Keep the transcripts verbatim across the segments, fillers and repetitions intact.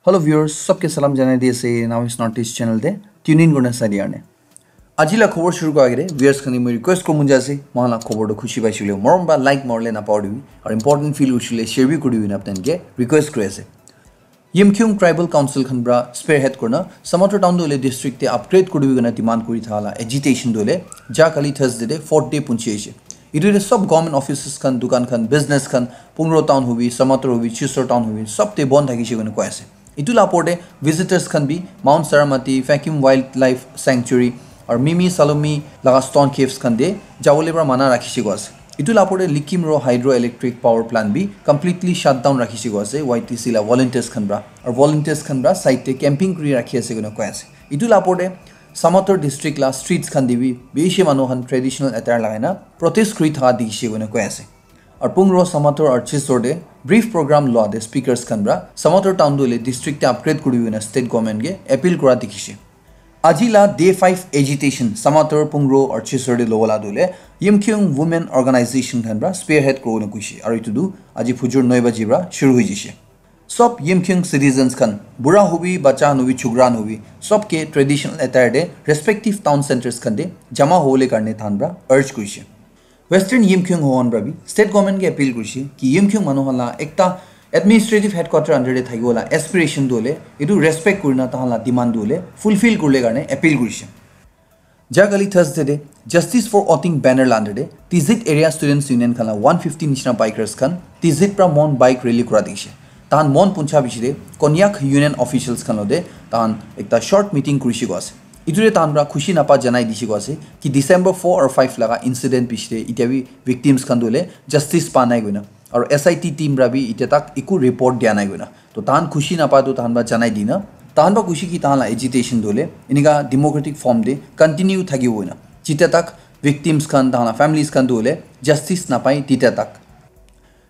Hello viewers, sabke salam janai di ase Now is Northeast channel te tune in kurna sai dia karne. Aji la khobor shuru kora agete viewers khan ke moi request koribo mon jai ase, moikhan la khobor toh khushi paise koile morom para like marile napahoribi, aru important feel kurise koile share bi koribi koina apni khan ke request kuri ase. Yimkhiung Tribal Council khan para spearhead kurina Samator town toh hoile district te upgrade koribi koina demand kuri thala agitation toh hoile ja kali Thursday te fourth day punchi ase. Etu te sob government offices khan, dukan khan, business khan, Pungro town hobi, Samator hobi, Chisor town hobi, sob te bon thakise koina koi ase. Etu la opor te visitors khan bi Mount Saramati, Fakim Wildlife Sanctuary, aru Mimi Salomi laga stone caves khan te jabole para mana rakhise koi ase. Etu la opor te Likim Ro Hydroelectric Power Plant bi completely shut down rakhise koi ase Y T C la volunteers khan para. Aru volunteers khan para side te camping kuri rakhi ase koina koi ase. Etu la opor te Samator district la streets khan te bi bishi manu khan traditional attire lagai na protest kuri thaka dikhise koina koi ase. Aru Pungro, Samator aru Chisor te brief program lua te speakers khan para Samator town toh hoile district te upgrade kuri koina state government ke appeal kura dikhise. Aji la day five agitation Samator, Pungro aru Chisor te lobo la toh hoile Yimkhiung Women Organization khan para spearhead kuri koina koise aru etu tu aji phujur noi baji para shuru hoi jaise. Sob Yimkhiung citizens khan, bura hobi, bacha khan hobi, chukra khan hobi, sob ke traditional attire te respective town centres khan te jama hobole karne tahan para urge kurise. Western Yimkhiung hohan para bi state government ke appeal kurise ki Yimkhiung manu khan la ekta administrative headquarter under te thakibo la aspiration tu hole etu respect kurina tahan la demand tu hole fulfill kurile karne appeal kurise. Jakali Thursday te Justice for Oting banner la under te Tizit Area Students Union khan la one fifty nishina bikers khan Tizit pra Mon bike rally kura dikhishe. Tahan Mon puncha bishi te Konyak Union officials khan lote tahan ekta short meeting kurishe koi ase. Itu te tahan pra khushi napa janai dishe koi ase ki December four or five laga incident bishi te itya bi victims khan tu hoile justice pa nai koina. Aru S I T team pra bi itya tak eku report dia nai koina. To tahan khushi napa tu tahan pra janai dina. Tahan pra khushi ki tahan la agitation tu hoile enika democratic form te continue thaki koina. Jitya tak victims khan tahan la families khan tu hoile justice napai titya tak.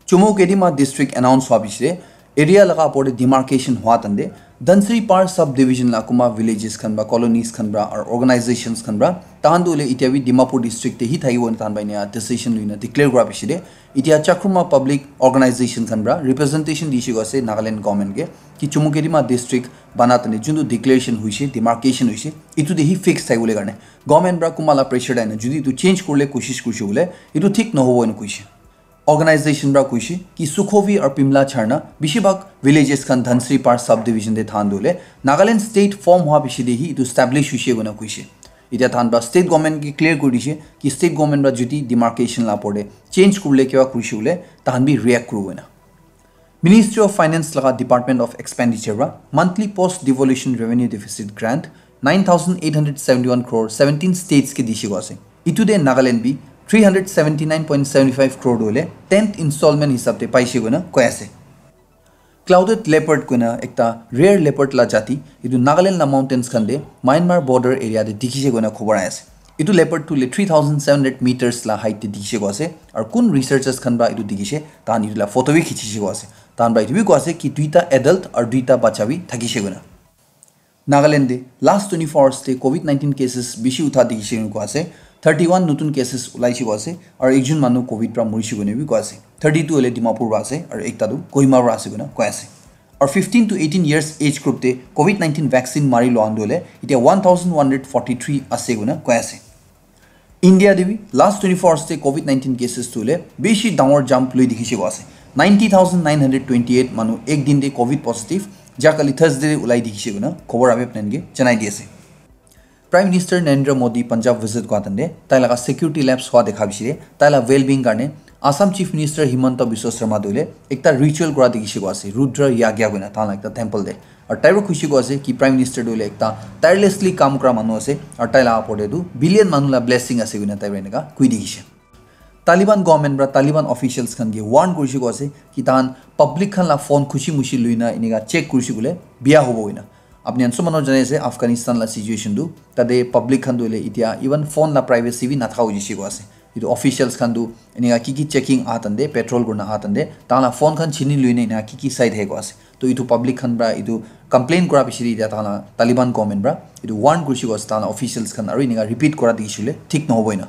Chumoukedima district announce hwa bishi te area laga apor te demarcation hwa tante Dhansiri Par subdivision la kuma villages khan pra colonies khan pra aru organizations khan pra tahan tu hoile itya bi Dimapur district te hi thakibo tahan pra inika decision luina declare kura bishi te itya Chakruma public organization khan pra representation dishe koi ase Nagaland government ke ki Chumoukedima district bana tante juntu declaration hoishe demarcation hoishe itu te hi fix thakibole karne government pra kuma la pressure daina jodi itu change kurile koshish kurishe hoile itu thik nohobo ena koishe. Organization pra koishe ki Sukhovi aru Pimla Charna bishi bhag villages khan Dhansiri Par subdivision te thahan tu hoile Nagaland state form hwa bishi te hi itu establish hoishe koina koishe. Itya tahan pra state government ke clear kuri dishe ki state government pra jodi demarcation la apor te change kurile kiba kurishe hoile tahan bi react kuribo koina. Ministry of Finance laga Department of Expenditure pra monthly post devolution revenue deficit grant nine thousand eight hundred seventy-one crore seventeen states ke dishe koi ase. Itu te Nagaland bi three hundred seventy-nine point seventy-five crore tu hoile tenth installment hisab te paishe koina koi ase. Clouded leopard koina ekta rare leopard la jati itu Nagaland la mountains khan te Myanmar border area te dikhishe koina khobor ahi ase. Itu leopard tu hoile three thousand seven hundred meters la height te dikhishe koi ase. Aru kun researchers khan pra itu dikhishe, tahan itu la photo bi khichishe koi ase. Tahan pra itu bi koi ase ki duita adult aru duita bacha bi thakishe koina. Nagaland te last twenty-four hours te covid nineteen cases bishi utha dikhishe koina koi ase. Thirty-one notun cases ulaishe koi ase. Aru ekjon manu covid pra morishe koina bi koi ase. Thirty-two hoile Dimapur pra ase aru ekta tu Kohima pra ase koina koi ase. Aru fifteen to eighteen years age group te covid nineteen vaccine mari lua khan tu hoile itya one thousand one hundred forty-three ase koina koi ase. India te bi last twenty-four hours te covid nineteen cases tu hoile bishi dangor jump lui dikhishe koi ase. Ninety thousand nine hundred twenty-eight manu ek din te covid positive ja kali Thursday te ulai dikhishe koina khobor abe plan ke janai di ase. Prime Minister Narendra Modi Punjab visit kora tante tai laga security lapse hwa dekha bishi te tai la well-being karne Assam Chief Minister Himanta Biswa Sarma tu hoile ekta ritual kora dikhishe koi ase, Rudra Yagya koina tahan la ekta temple te. Aru tai para khushi koi ase ki Prime Minister tu hoile ekta tirelessly kam kora manu ase aru tai laga apor te tu billion manu la blessing ase koina tai para enika koi dikhishe. Taliban government para Taliban officials khan ke warn kurishe koi ase ki tahan public khan la phone khushi mushi luina enika check kurishe koile biya hobo koina. Apni khan sob manu janai ase Afghanistan la situation tu, tate public khan tu hoile itya even phone la privacy bi nathaka hoishe koi ase. Itu officials khan tu enika ki ki checking aha tante, patrol kurina aha tante tahan la phone khan chini luina enika ki ki sai thake koi ase. To itu public khan pra itu complain kura bishi te itya tahan la Taliban government pra itu warn kurishe koi ase tahan la officials khan aru enika repeat kura dikhishe koile thik nohobo ena.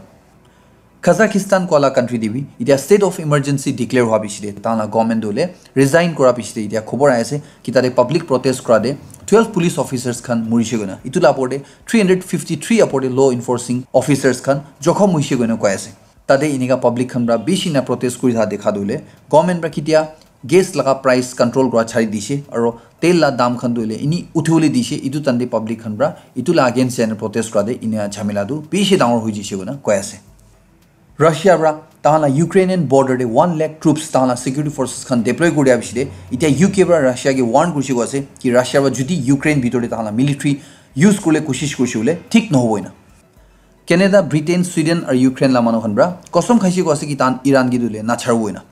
Kazakhstan koa la country te bi itia state of emergency declare hua piche te tahan la government tu hoile resign kura piche te itia khobor ahi ase ki tate public protest kura te twelve police officers khan murishe koina, itu la opor te three hundred fifty three opor te law enforcing officers khan jokhom hoishe koina koi ase. Tate inika public khan pra bishi na protest kuri thakia dikha tu hoile government pra kitia gas laga price control kura chari dishe aro tel la dam khan tu hoile ini uthibole dishe, itu time te public khan pra itu la against jai na protest kura te inika jhamela tu bishi dangor hoi jishe koina koi ase. Russia pra tahan la Ukrainian border te one lakh troops tahan la security forces khan deploy kuri dia piche te itia U K pra Russia ke warn kurishe koi ase ki Russia pra jodi Ukraine bitor te tahan la military use kurile koshish kurishe koile thik nohobo ena. Canada, Britain, Sweden aru Ukraine la manu khan pra kostom khaishe koi ase ki tahan Iran ke tu hoile nacharibo ena.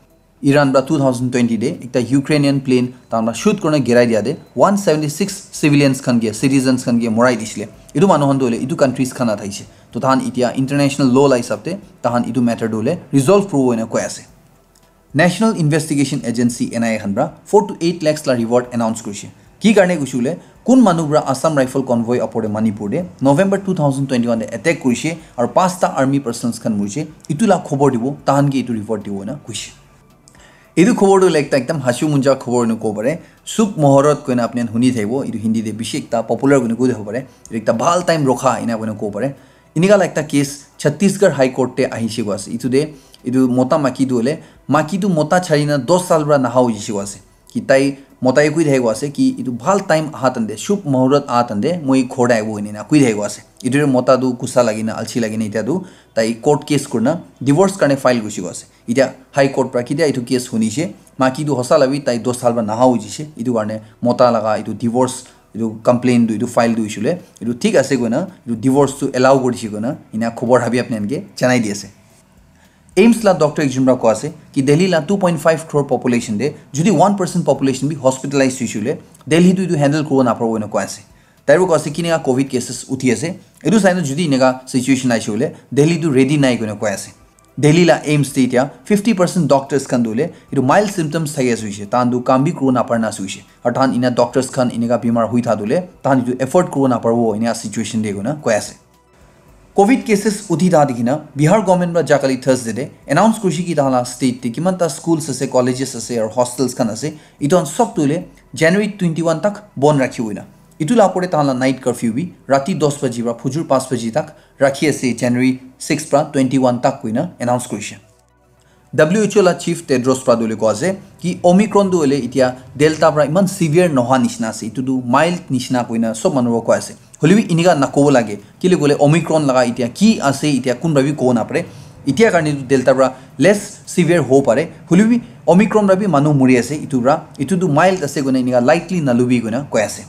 Iran pra two thousand twenty te ekta Ukrainian plane tahan pra shoot kurina girai dia te one seventy six civilians khan ke, citizens khan ke morai disile. Itu manu khan tu hoile itu countries khan la thaishe. To tahan itia international law la hisab te tahan itu matter tu hoile resolve kuribo ena koi ase. National Investigation Agency, N I A khan pra four to eight lakhs la reward announce kurishe. Ki karne kuishe koile kun manu pra Assam Rifle convoy opor te Manipur te November two thousand twenty-one te attack kurishe aru pasta army personnels khan murishe, itu la khobor dibo, tahan ke itu reward dibo ena kuishe. Etu khobor tu like ekta ekdam hasu munja khobor ena kobo pare. Shubh Muhurat koina apni khan huni thaibo. Etu Hindi te bishi ekta popular koina koi thabo pare. Etu ekta bhal time rokha ena koina kobo pare. Enika la ekta case Chhattisgarh High Court te ahishe koi ase. Etu te etu mota maki tu hoile maki tu mota chari na dos saal pra naha hoi jishe koi ase. Ki tai motai koi thake koi ase ki etu bhal time aha time te, Shubh Muhurat aha time te moi ghor te ahibo ena koi thake koi ase. Etu te mota tu gussa lagi na, alsi lagi na etia tu tai court case kurina divorce karne file kurishe koi ase. Etia High Court pra kitia etu case hunishe, maki tu hosa labi tai dos saal pra naha hoi jishe. Etu karne mota laga etu divorce, etu complaint tu, etu file tu hoishe koile etu thik ase koina etu divorce tu allow kurishe koina ena khobor habi apni khan ke janai di ase. AIIMS la doctor ekjon pra koi ase ki Delhi la two point five crore population te jodi one percent population bi hospitalize hoishe koile Delhi tu etu handle kuribo naparibo ena koi ase. Tai pra koi ase kineka covid cases uthi ase. Etu sai na jodi eneka situation ahishe koile Delhi tu ready nai koina koi ase. Delhi la AIIMS te etia fifty percent doctors khan tu hoile etu mild symptoms thaki ase hoishe, tahan tu kam bi kuribo napara na ase hoishe. Aru tahan ena doctors khan eneka bimar hoi thakia tu hoile tahan etu afford kuribo naparibo ena situation te koina koi ase. Covid cases uthi thakia dikhina Bihar government pra jakali Thursday te announce kurishe ki tahan la state te kiman ta schools ase, colleges ase aru hostels khan ase, etu khan sob tu hoile January twenty-one tak bon rakhibo ena. Etu la opor te tahan la night curfew bi rati dos baji pra phujur panch baji tak rakhi ase, January six pra twenty-one tak koina announce kurishe. W H O la chief Tedros pra tu hoile koi ase ki Omicron tu hoile etia Delta pra iman severe noha nishina ase, etu tu mild nishina koina sob manu pra koi ase. Hoile bi eneka nakobo lage, kile koile Omicron laga etia ki ase etia kun pra bi kobo napare. Etia karne tu Delta pra less severe hobo pare, hoile bi Omicron pra bi manu muri ase etu pra, etu tu mild ase koina eneka lightly nalubi koina koi ase.